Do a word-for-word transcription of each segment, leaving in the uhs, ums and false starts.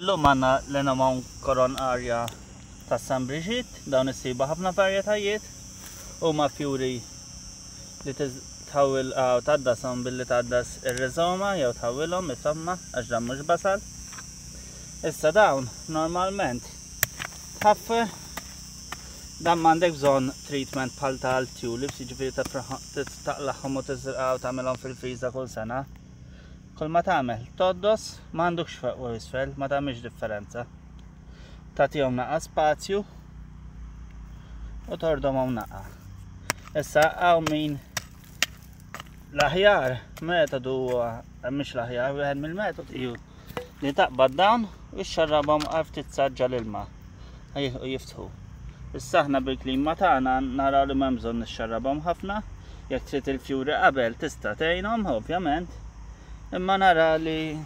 Illum għandna l-Anemone coronaria ta' San Brigitte, dawn issibu ħafna varjetajiet, huma fjuri li tħawwil tgħaddashom billi tgħaddas ir-riżoma jew tħawwilhom insomma għax dan mhux basal. Issa dawn normalment tħaffer, dan m'għandek bżonn treatment bħal tal-tulips, jiġifieri taqlagħhom u tiżraqha u tagħmilhom fil-friża kull sena. Kull ma tagħmel, tgħoddos, m'għandukx fuq u isfel, ma tagħmilx differenza. Tagħtihom naqa spazju u tordomhom naqa. Issa hawn min l-aħjar metodu huwa mhix l-aħjar, wieħed mill-metodi hu li taqbad dawn u xxarrabhom għal ftit saġġa l-ilma u jiftħu. Issa aħna bil-klima tagħna naraw li m'hemm bżonn nixxarrabhom ħafna, jekk trid il-fjuri qabel tista' tgħinhom ovvjament, imma nara li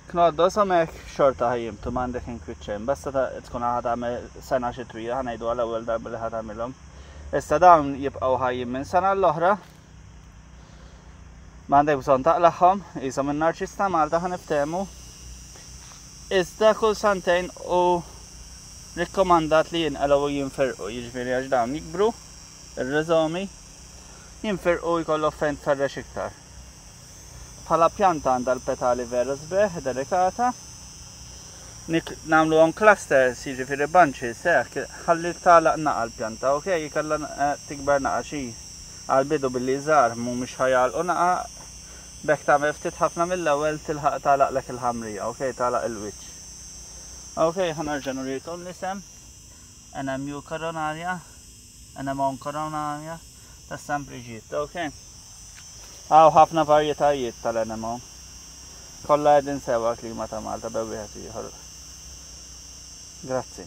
knoddoshom hekk xorta ħajjimtu m'għandek inkwiet xejn, basta tkun ħa tagħmel sena xitwija, ħa ngħidu għall-ewwel darba li ħa tagħmilhom. Issa dawn jibqgħu ħajjin minn sena l-oħra. M'għandek bżonn taqlagħhom, qishom in-narċis ta' Malta ħa niftehmu. Iżda kull santejn u rikkomandat li jinqalgħu u jinferqu, jiġifieri għax dawn jikbru, ir-riżomi, jinferqu jkollok fejn tferrex iktar. Bħala pjanta għandha l-petali vera sbieħ, delikata. Nagħmluhom clusters, jiġifieri bunches, hekk, ħalli tagħlaq naqa l-pjanta, ok? Jkollha tikber naqa xi għal-bidu billi żgħar mhumiex ħa jagħlqu naqa, b'hekk tagħmel ftit ħafna mill-ewwel tilħaq tagħlaqlek il-ħamrija, ok? Tagħlaq il-wiċċ. Ok, ħa nerġa' nurikom l-isem. Anemone coronaria, Anemone coronaria ta' San Brigitte, ok? Hawn ħafna varjetajiet tal-anemone. Kollha qegħdin sewa klima ta' Malta bejn wieħed ieħor. Grazzi.